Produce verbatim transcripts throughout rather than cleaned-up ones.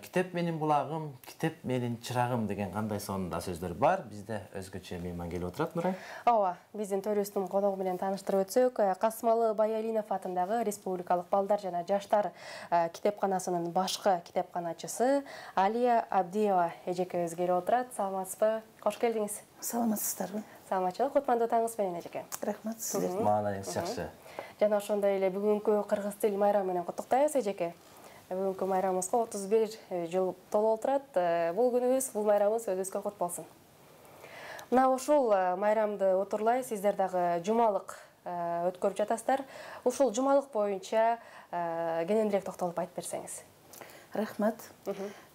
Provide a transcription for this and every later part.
китеп менин булагым, китеп менин чырагым деген кандай сонунда сөздөр бар. Бизде өзгөчө мейман келип отурат, Нурай. Ооба, биздин төрүбүздүн коногу менен тааныштырып өтсөк, Касымалы Баялинов атындагы Республикалык балдар жана жаштар китепканасынын башкы китепканачысы Алия Абдиева эжекебиз келип отурат. Саламатсызбы? Кош келдиңиз. Саламатсыздарбы? Саламатчылык, кутмандуу таңыңыз менен эжеке. Рахмат сиздерге. Маанайыңыз жакшы. Жана ошондой эле бүгүнкү кыргыз тил майрамы менен куттуктайбыз эжеке. Бүгүнкү майрамыбызга отуз бир жыл толуп отурат. Бул күнүбүз, бул майрамыбыз өзүбүзгө кут болсун. Мына ушул майрамды отурлай сиздер дагы жумалык өткөрүп жатасыздар. Ушул жумалык боюнча кененирээк токтолуп айтып берсеңиз. Рахмат.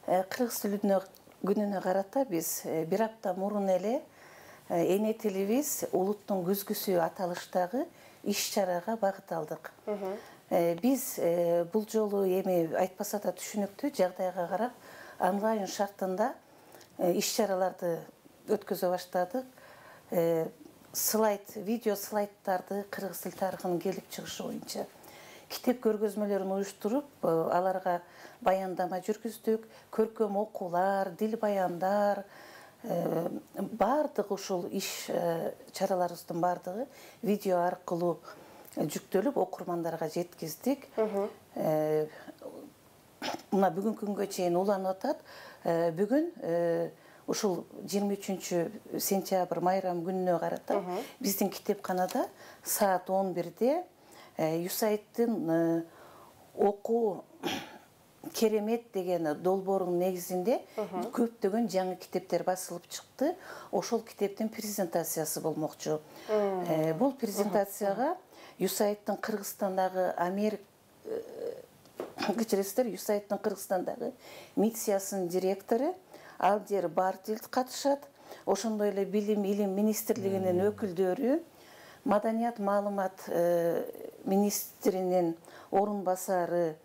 Кыргыз тилинин күнүнө карата биз бир апта мурун эле эне тилибиз улуттун күзгүсү аталыштагы иш-чарага багыт алдык. Биз бул жолу эми айтпаса да түшүнүктүү жагдайга карап онлайн шартында иш-чараларды өткөзө баштадык. Слайд, видео слайдтарды кыргыз тил тарыхынын келип чыгышы боюнча китеп көргөзмөлөрүн уюштуруп, аларга баяндама жүргүздүк, көркөм окуулар, дил баяндар, бардык ушул иш чараларыбыздын бардыгы видео аркылуу жүктөлүп окурмандарга жеткиздик. Мына бүгүнкү күнгө чейин уланып атат. Бүгүн ушул жыйырма үчүнчү сентябрь майрам күнүнө карата биздин китепканада саат он бирде Юсайттын окуу керемет деген долбоорунун негизинде көптөгөн жаңы китептер басылып чыкты. Ошол китептин презентациясы болмокчу. Бул презентацияга Юсайттын Кыргызстандагы Америка кечиресиздер, Юсайттын Кыргызстандагы миссиясынын директору Алдер Бартилд катышат. Ошондой эле Билим Илим министрлигинин өкүлдөрү, Маданият маалымат министринин орун басары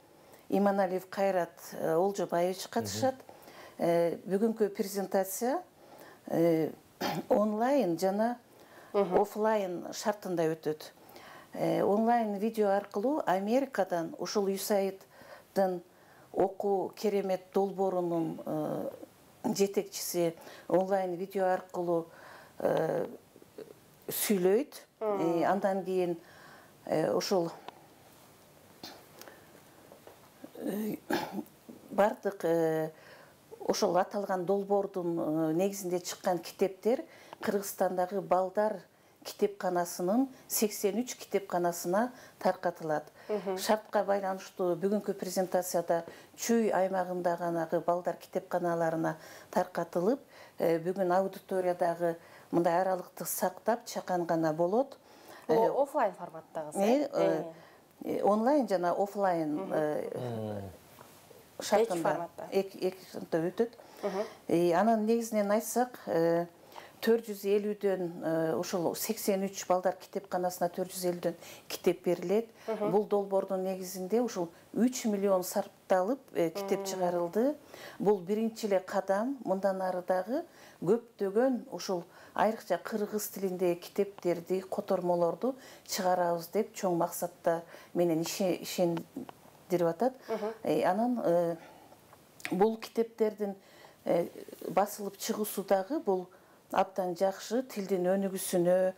Иманалиев Кайрат Олжобаевич катышат. Бүгүнкү презентация онлайн жана офлайн шартында өтөт. Онлайн видео аркылуу Америкадан ушул Юсайттын окуу керемет долбоорунун жетекчиси онлайн видео аркылуу сүйлөйт. Андан кийин ушул бардык ошол аталган долбоордун негизинде чыккан китептер Кыргызстандагы балдар китепканасынын сексен үч китепканасына таркатылат. Шартка байланыштуу бүгүнкү презентацияда Чүй аймагындагы балдар китепканаларына таркатылып, бүгүн аудиториядагы мындай аралыкты сактап чакан гана болот. Офлайн форматтагы, онлайн жана офлайн шартында эки шартта өтөт. Анын негизинен айтсак, төрт жүз элүүдөн ушул сексен үч балдар китепканасына төрт жүз элүүдөн китеп берилет. Бул долбоордун негизинде ушул үч миллион сарпталып китеп чыгарылды. Бул биринчи эле кадам. Мындан ары дагы көптөгөн ушул айрыкча кыргыз тилиндеги китептерди, котормолорду чыгарабыз деп чоң максатта менен ишендирип атат. Анан бул китептердин басылып чыгуусу дагы бул абдан жакшы, тилдин өнүгүүсүнө,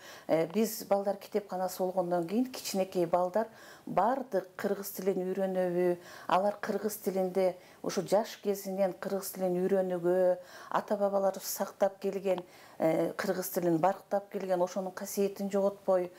биз балдар китепканасы болгондон кийин кичинекей балдар бардык кыргыз тилин үйрөнөбү, алар кыргыз тилинде ушу жаш кезинен кыргыз тилин үйрөнүүгө, ата-бабаларыбыз сактап келген кыргыз тилин барктап келген, ошонун касиетин жоготпой,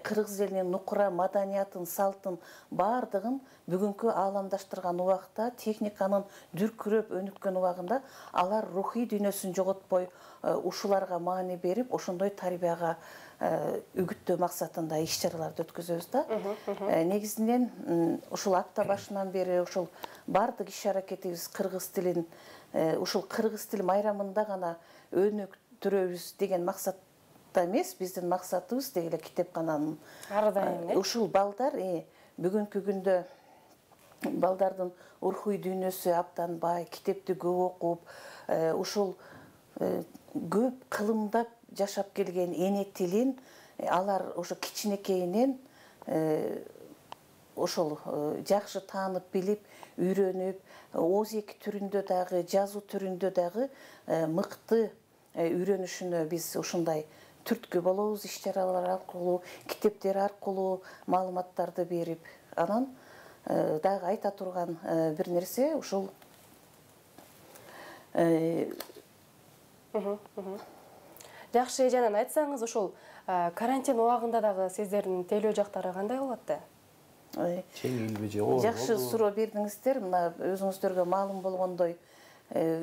кыргыз элинин нукура маданиятын, салтын бардыгын бүгүнкү ааламдаштырган убакта, техниканын дүркүрөп өнүккөн убагында алар рухий дүйнөсүн жоготпой, ушуларга маани берип, ошондой тарбияга үгүттөө максатында иш-чараларды өткөзөбүз да. Негизинен ушул апта башынан бери ушул бардык иш-аракетибиз кыргыз тилин ушул кыргыз тил майрамында гана өнүктүрөбүз деген максатта эмес, биздин максатыбыз деги эле китепкананын ар дайым ушул балдар бүгүнкү күндө балдардын рухий дүйнөсү абдан бай, китепти көп окуп, ушул көп кылымдап жашап келген эне тилин алар ошо кичинекейинен ошол жакшы таанып билип үйрөнүп ооз эки түрүндө дагы жазуу түрүндө дагы мыкты үйрөнүшүнө биз ушундай түрткү болобуз. Иш чаралар аркылуу, китептер аркылуу маалыматтарды берип, анан дагы айта турган бир нерсе ушул жакшы эженен айтсаңыз, ушул карантин убагында дагы сиздердин тейлөө жактары кандай болуп атты? Жеңилби же оор? Жакшы суроо бердиңиздер. Мына өзүңүздөргө маалым болгондой,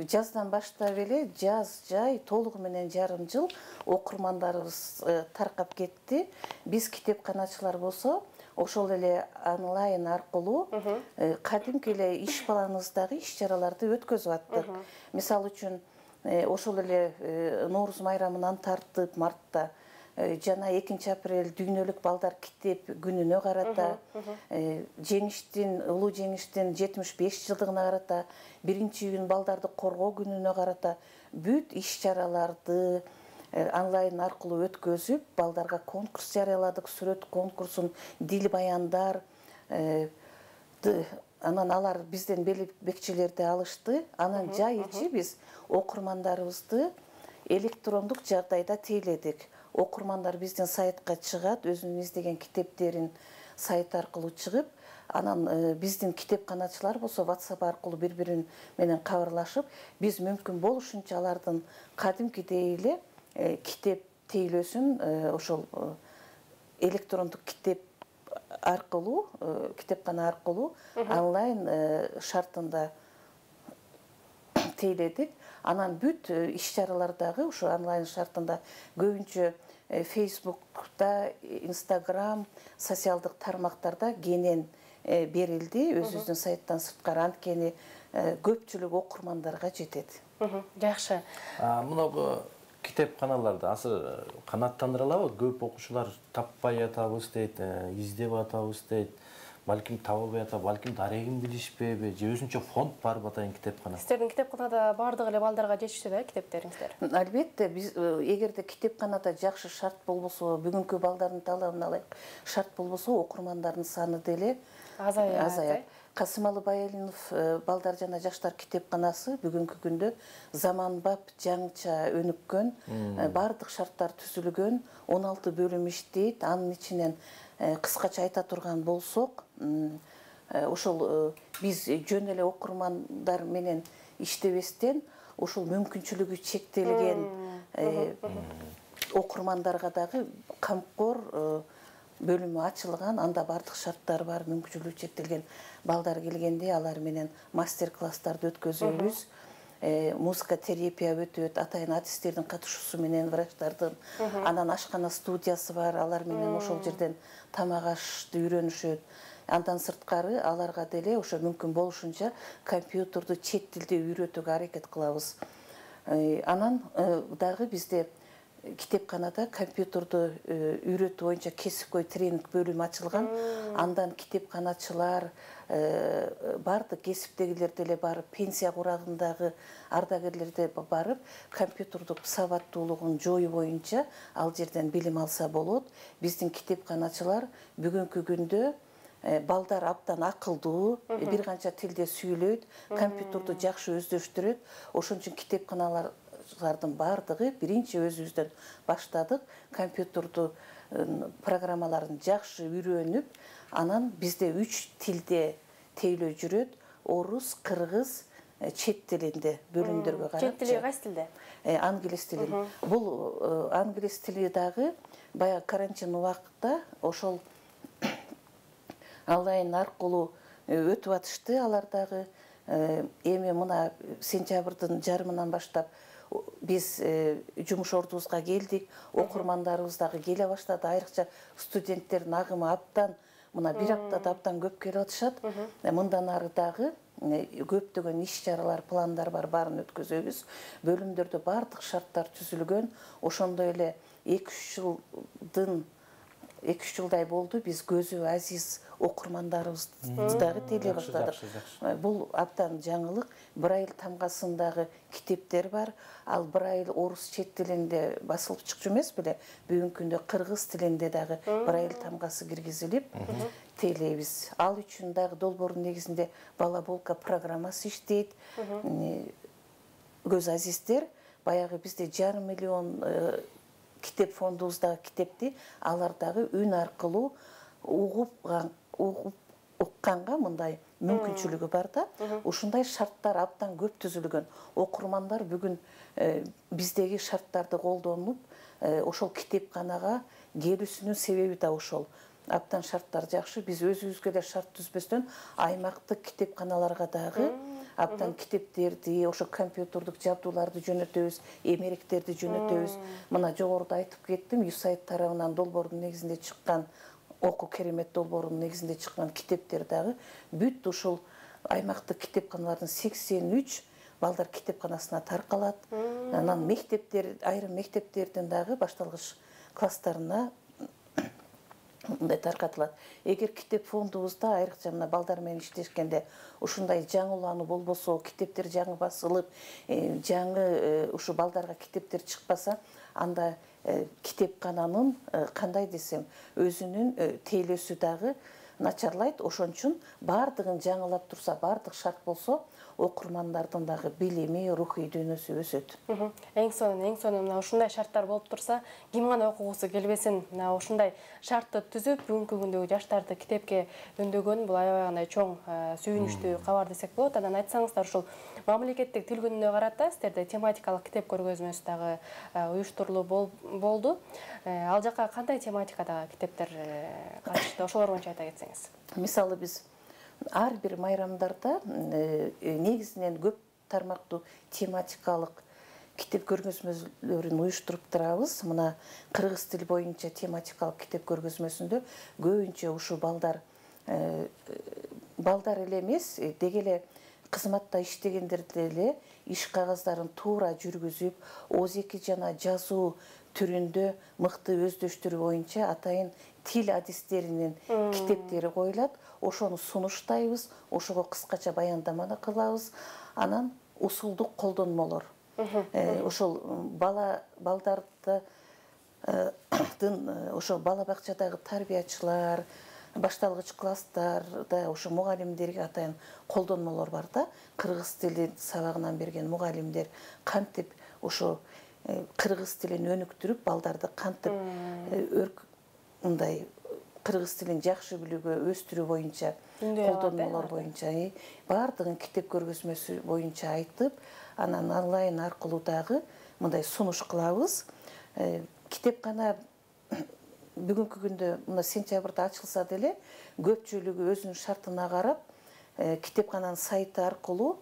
жаздан баштап эле жаз жай толугу менен жарым жыл окурмандарыбыз таркап кетти. Биз китепканачылар болсо ошол эле онлайн аркылуу кадимки эле иш планыбыздагы иш чараларды өткөзүп аттык. Мисалы үчүн ошол эле Нооруз майрамынан тартып мартта жана экинчи апрель дүйнөлүк балдар китеп күнүнө карата, жеңиштин, улуу жеңиштин жетимиш беш жылдыгына карата, биринчи июнь балдарды коргоо күнүнө карата бүт иш чараларды онлайн аркылуу өткөзүп, балдарга конкурс жарыяладык, сүрөт конкурсун, дил баяндар, анан алар бизден бекчелерди алышты. Анан жай ичи биз окурмандарыбызды электрондук жагдайда тейледик. Окурмандар биздин сайтка чыгат, өзүнүн издеген китептерин сайт аркылуу чыгып, анан биздин китепканачылар болсо WhatsApp аркылуу бири-бири менен кабарлашып, биз мүмкүн болушунча алардын кадимкидей эле китеп тейлөөсүн ошол электрондук китеп аркылуу, китепкана аркылуу онлайн шартында тейледик. Анан бүт иш чаралардагы ушу онлайн шартында көбүнчө Facebook'та, Instagram, социалдык тармактарда кенен берилди. Өзүбүздүн сайттан сырткары, анткени көпчүлүк окурмандарга жетет. Жакшы. Мына китепканаларда азыр канааттандырылабы? Көп окуучулар таппай атабыз дейт, издеп атабыз дейт. Балким табылбай атабы, балким дарегин билишпейби, же өзүнчө фонд барбы атайын китепкана? Сиздердин китепканада баардык эле балдарга жетиштүү да китептериңиздер? Албетте, биз эгерде китепканада жакшы шарт болбосо, бүгүнкү балдардын талабына ылайык шарт болбосо, окурмандардын саны деле азаят. Касымалы Байалинов балдар жана жаштар китепканасы бүгүнкү күндө заманбап, жаңыча өнүккөн, баардык шарттар түзүлгөн, он алты бөлүм иштейт. Анын ичинен кыскача айта турган болсок, ошол биз жөн эле окурмандар менен иштебестен, ушул мүмкүнчүлүгү чектелген окурмандарга дагы камкор бөлүмү ачылган, анда бардык шарттар бар, мүмкүнчүлүгү чектелген балдар келгенде алар менен мастер-класстарды өткөзөбүз. Музыка терапия өтөт, атайын артисттердин катышуусу менен врачтардын. Анан ашкана студиясы бар, алар менен ошол жерден тамак ашты үйрөнүшөт. Андан сырткары аларга деле ошо мүмкүн болушунча компьютерду чет тилде үйрөтүүгө аракет кылабыз. Анан дагы бизде китепканада компьютерду үйрөтүү боюнча кесипкөй тренинг бөлүмү ачылган. Андан китепканачылар, бардык кесиптегилер деле барып, пенсия курагындагы ардагерлер де барып, компьютердук сабаттуулугун жоюу боюнча ал жерден билим алса болот. Биздин китепканачылар бүгүнкү күндө балдар абдан акылдуу, бир канча тилде сүйлөйт, компьютерду жакшы өздөштүрөт. Ошон үчүн китепканалардын бардыгы биринчи өзүбүздөн баштадык, компьютерду программаларын жакшы үйрөнүп, анан бизде үч тилде тейлөө жүрөт: орус, кыргыз, чет тилинде бөлүмдөргө карап. Чет тили кайсы тилде? Англис тили. Бул англис тили дагы баягы карантин убакытта ошол онлайн аркылуу өтүп атышты. Алар дагы эми мына сентябрдын жарымынан баштап биз жумуш ордубузга келдик, окурмандарыбыз дагы келе баштады. Айрыкча студенттердин агымы абдан, мына бир аптада абдан көп келип атышат. Мындан ары дагы көптөгөн иш чаралар, пландар бар, баарын өткөзөбүз. Бөлүмдөрдө бардык шарттар түзүлгөн. Ошондой эле эки үч жылдын эки үч жылдай болду биз көзү азиз окурмандарыбызды дагы телей баштадык. Бул абдан жаңылык. Брайль тамгасындагы китептер бар. Ал брайль орус чет тилинде басылып чыкчу эмес беле. Бүгүнкү күндө кыргыз тилинде дагы брайль тамгасы киргизилип тейлейбиз. Ал үчүн дагы долбоордун негизинде балаболка программасы иштейт. Көз азиздер баягы бизде жарым миллион китеп фондубуздагы китепти алар дагы үн аркылуу угуп угуп укканга мындай мүмкүнчүлүгү бар да. Ушундай шарттар абдан көп түзүлгөн. Окурмандар бүгүн биздеги шарттарды колдонуп, ошол китепканага келүүсүнүн себеби да ошол. Абдан шарттар жакшы. Биз өзүбүзгө эле шарт түзбөстөн аймактык китепканаларга дагы абдан китептерди, ошо компьютердук жабдууларды жөнөтөбүз, эмеректерди жөнөтөбүз. Мына жогоруда айтып кеттим, юсайт тарабынан долбоордун негизинде чыккан, оку керемет долбоордун негизинде чыккан китептер дагы бүт ушул аймактык китепканалардын сексен үч балдар китепканасына таркалат. Анан мектептер, айрым мектептердин дагы башталгыч класстарына мындай таркатылат. Эгер китеп фондубузда айрыкча мына балдар менен иштешкенде ушундай жаңылануу болбосо, китептер жаңы басылып, жаңы ушу балдарга китептер чыкпаса, анда китепкананын кандай десем, өзүнүн тейлөөсү дагы начарлайт. Ошон үчүн бардыгын жаңылап турса, бардык шарт болсо, окурмандардын дагы билими, рухий дүйнөсү өсөт. Эң сонун, эң сонун мына ушундай шарттар болуп турса, ким гана окугусу келбесин. Мына ушундай шартты түзүп, бүгүнкү күндөгү жаштарды китепке өндөгөн бул аябай чоң сүйүнүчтүү кабар десек болот. Анан айтсаңыздар, ушул мамлекеттик тил күнүнө карата сиздерде тематикалык китеп көргөзмөсү дагы уюштурулуп болду. Ал жака кандай тематикадагы китептер катышты? Ошолор боюнча айта кетсеңиз. Мисалы биз ар бир майрамдарда негизинен көп тармактуу тематикалык китеп көргөзмөлөрүн уюштуруп турабыз. Мына кыргыз тил боюнча тематикалык китеп көргөзмөсүндө көбүнчө ушу балдар балдар эле эмес, деги эле кызматта иштегендерди эле иш кагаздарын туура жүргүзүп, ооз эки жана жазуу түрүндө мыкты өздөштүрүү боюнча атайын тил адистеринин китептери коюлат. Ошону сунуштайбыз, ошого кыскача баяндаманы кылабыз. Анан усулдук колдонмолор. Ошол бала балдарды ошо бала бакчадагы тарбиячылар, башталгыч класстарда ошо мугалимдерге атайын колдонмолор бар да. Кыргыз тили сабагынан берген мугалимдер кантип ошо кыргыз тилин өнүктүрүп, балдарды кантип мындай кыргыз тилин жакшы билүүгө өстүрүү боюнча, колдонмолор боюнча бардыгын китеп көргөзмөсү боюнча айтып, анан онлайн аркылуу дагы мындай сунуш кылабыз. Китепкана бүгүнкү күндө мына сентябрда ачылса деле, көпчүлүгү өзүнүн шартына карап, китепкананын сайты аркылуу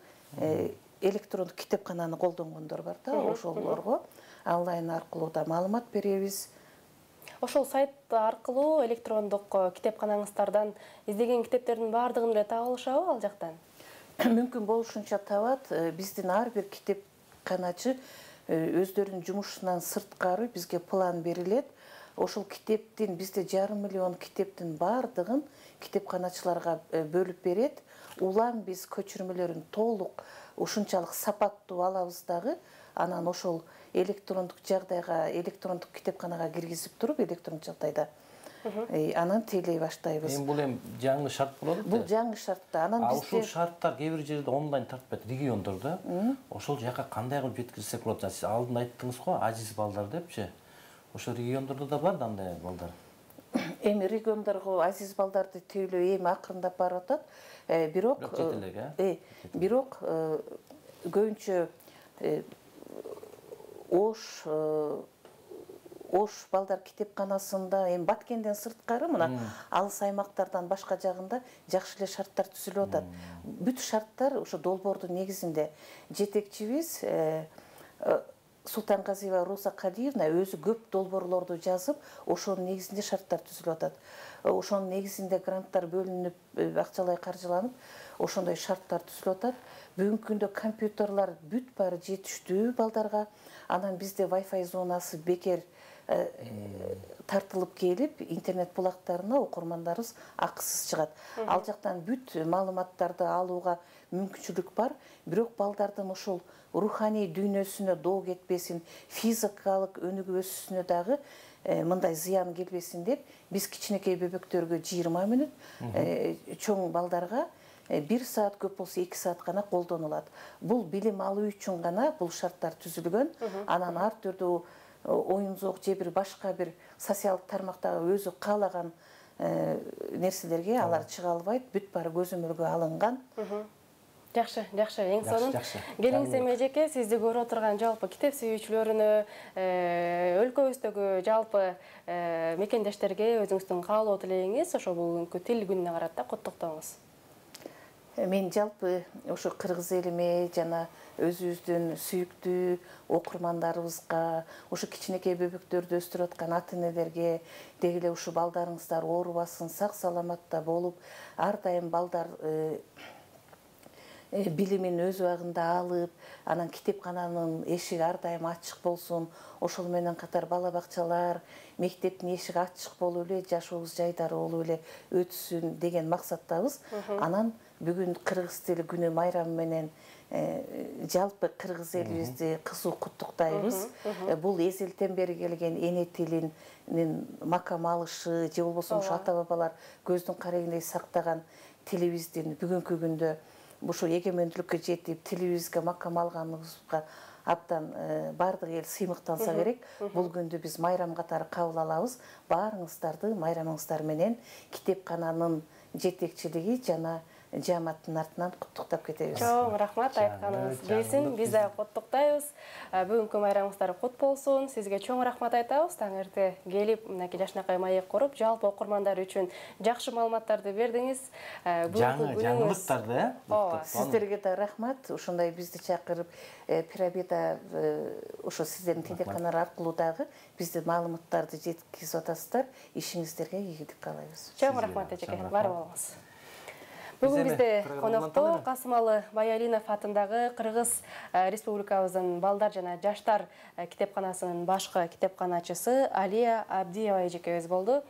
электрондук китепкананы колдонгондор бар да, ошолорго онлайн аркылуу да маалымат беребиз. Ошол сайт аркылуу электрондук китепканаңыздардан издеген китептердин баардыгын эле таба алышабы ал жактан? Мүмкүн болушунча табат. Биздин ар бир китепканачы өздөрүнүн жумушунан сырткары бизге план берилет. Ошол китептин бизде жарым миллион китептин баардыгын китепканачыларга бөлүп берет. Улам биз көчүрмөлөрүн толук ушунчалык сапаттуу алабыз дагы. Анан ошол электрондук жагдайга, электрондук китепканага киргизип туруп, электрондук жагдайда анан тейлей баштайбыз. Эми бул эми жаңы шарт болот да. Бул жаңы шартта. Анан бизде ушул шарттар кээ бир жерде онлайн тартпайт, региондордо. Ошол жака кандай кылып жеткирсек болот? Сиз алдында айттыңыз го, азиз балдар депчи. Ошол региондордо да бар да андай балдар. Эми региондорго азиз балдарды тейлөө эми акырындап барып атат. Бирок э бирок көбүнчө Ош Ош балдар китепканасында эми Баткенден сырткары мына алыс аймактардан башка жагында жакшы эле шарттар түзүлүп атат. Бүт шарттар ошо долбоордун негизинде. Жетекчибиз Султанказиева Роза Калиевна өзү көп долбоорлорду жазып, ошонун негизинде шарттар түзүлүп атат. Ошонун негизинде гранттар бөлүнүп, акчалай каржыланып, ошондой шарттар түзүлүп атат. Бүгүнкү күндө компьютерлар бүт баары жетиштүү балдарга. Анан бизде Wi-Fi зонасы бекер тартылып келип интернет булактарына окурмандарыбыз акысыз чыгат. Ал жактан бүт маалыматтарды алууга мүмкүнчүлүк бар, бирок балдардын ушул руханий дүйнөсүнө доо кетпесин, физикалык өнүгүү өсүүсүнө дагы мындай зыян келбесин деп биз кичинекей бөбөктөргө жыйырма мүнөт, чоң балдарга бир саат, көп болсо эки саат гана колдонулат. Бул билим алуу үчүн гана бул шарттар түзүлгөн. Анан ар түрдүү оюн зоок же бир башка бир социалдык тармактагы өзү каалаган нерселерге алар чыга албайт, бүт баары көзөмөлгө алынган. Жакшы, жакшы. Эң сонун келиңиз эжеке, сизди көрүп отурган жалпы китеп сүйүүчүлөрүнө, өлкөбүздөгү жалпы мекендештерге өзүңүздүн каалоо тилегиңиз ошо бүгүнкү тил күнүнө карата коттоктоңуз. Мен жалпы ошо кыргыз элиме жана өзүбүздүн сүйүктүү окурмандарыбызга, ошо кичинекей бөбөктөрдү өстүрүп аткан ата энелерге деги эле ушу балдарыңыздар оорубасын, сак саламатта болуп, ар дайым балдар билимин өз убагында алып, анан китепкананын эшиги ар дайым ачык болсун, ошол менен катар бала бакчалар, мектептин эшиги ачык болуп эле, жашообуз жайдары болуп эле өтсүн деген максаттабыз. Анан бүгүн кыргыз тили күнү майрамы менен жалпы кыргыз элибизди кызуу куттуктайбыз. Бул эзелтен бери келген эне тилинин макам алышы, же болбосо ушу ата бабалар көздүн карегиндей сактаган тилибиздин бүгүнкү күндө ушу эгемендүүлүккө жетип, тилибизге макам алганыбызга абдан бардык эл сыймыктанса керек. Бул күндү биз майрам катары кабыл алабыз. Баарыңыздарды майрамыңыздар менен китепкананын жетекчилиги жана жааматтын артынан куттуктап кетебиз. Чоң рахмат, айтканыңыз келсин. Биз да куттуктайбыз. Бүгүнкү майрамыңыздар кут болсун. Сизге чоң рахмат айтабыз. Таң эрте келип, мынакей жашынакай маек куруп, жалпы окурмандар үчүн жакшы маалыматтарды бердиңиз. Жаңы жаңылыктарды, э? Сиздерге да рахмат. Ошондой бизди чакырып, Пирамида ошо сиздердин телеканалар аркылуу дагы бизди маалыматтарды жеткизип атасыздар. Ишиңиздерге ийгилик каалайбыз. Чоң рахмат эжеке. Бар болуңуз. Бүгүн бизде конокто Касымалы Баялинов атындагы Кыргыз Республикабыздын балдар жана жаштар китепканасынын башкы китепканачысы Алия Абдиева эжекебиз болду.